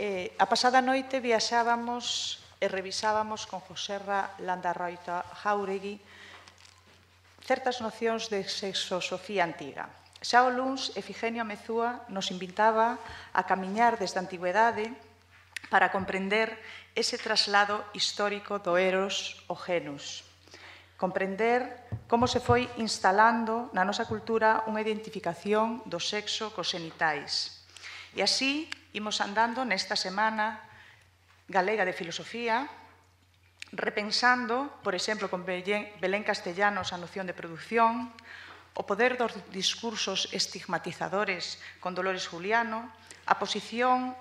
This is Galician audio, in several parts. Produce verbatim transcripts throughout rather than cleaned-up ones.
Eh, a pasada noite viaxábamos e revisábamos con Joserra Landarroita Jauregui certas nocións de sexosofía antiga. Xa o luns, Efigenio Amezúa nos invitaba a camiñar desde a antigüedade para comprender ese traslado histórico do eros ao genus. Comprender como se foi instalando na nosa cultura unha identificación do sexo cos xenitais. E así, imos andando nesta semana galega de filosofía, repensando, por exemplo, con Belén Castellanos a noción de produción, o poder dos discursos estigmatizadores con Dolores Juliano, a posición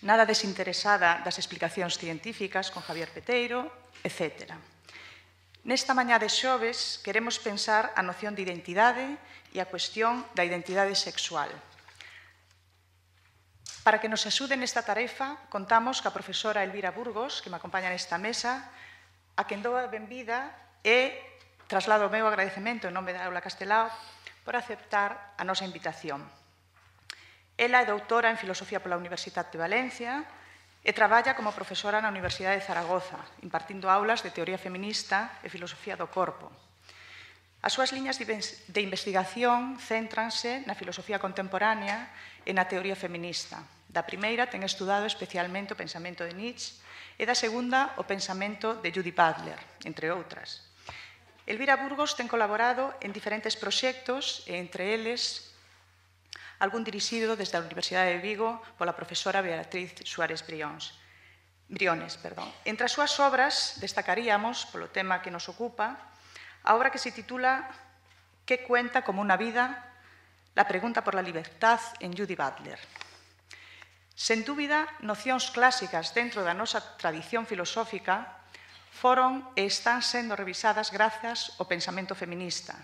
nada desinteresada das explicacións científicas con Javier Peteiro, etcétera. Nesta mañá de xoves queremos pensar a noción de identidade e a cuestión da identidade sexual. Para que nos axude nesta tarefa, contamos ca profesora Elvira Burgos, que me acompaña nesta mesa, a quen dou a benvida e traslado o meu agradecemento en nome da Aula Castelao por aceptar a nosa invitación. Ela é doutora en Filosofía pola Universidade de Valencia e traballa como profesora na Universidade de Zaragoza, impartindo aulas de teoría feminista e filosofía do corpo. As súas liñas de investigación céntranse na filosofía contemporánea e na teoría feminista. Da primeira ten estudado especialmente o pensamento de Nietzsche e da segunda o pensamento de Judith Butler, entre outras. Elvira Burgos ten colaborado en diferentes proxectos e entre eles algún dirixido desde a Universidade de Vigo pola profesora Beatriz Suárez Briones. Briones. Perdón. Entre as súas obras destacaríamos, polo tema que nos ocupa, a obra que se titula ¿Qué cuenta como una vida? La pregunta por la libertad en Judith Butler. Sen dúbida, nocións clásicas dentro da nosa tradición filosófica foron e están sendo revisadas grazas ao pensamento feminista.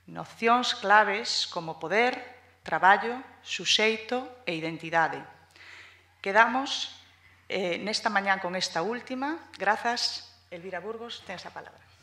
Nocións claves como poder, traballo, suxeito e identidade. Quedamos eh, nesta mañá con esta última. Grazas, Elvira Burgos, tens a palabra.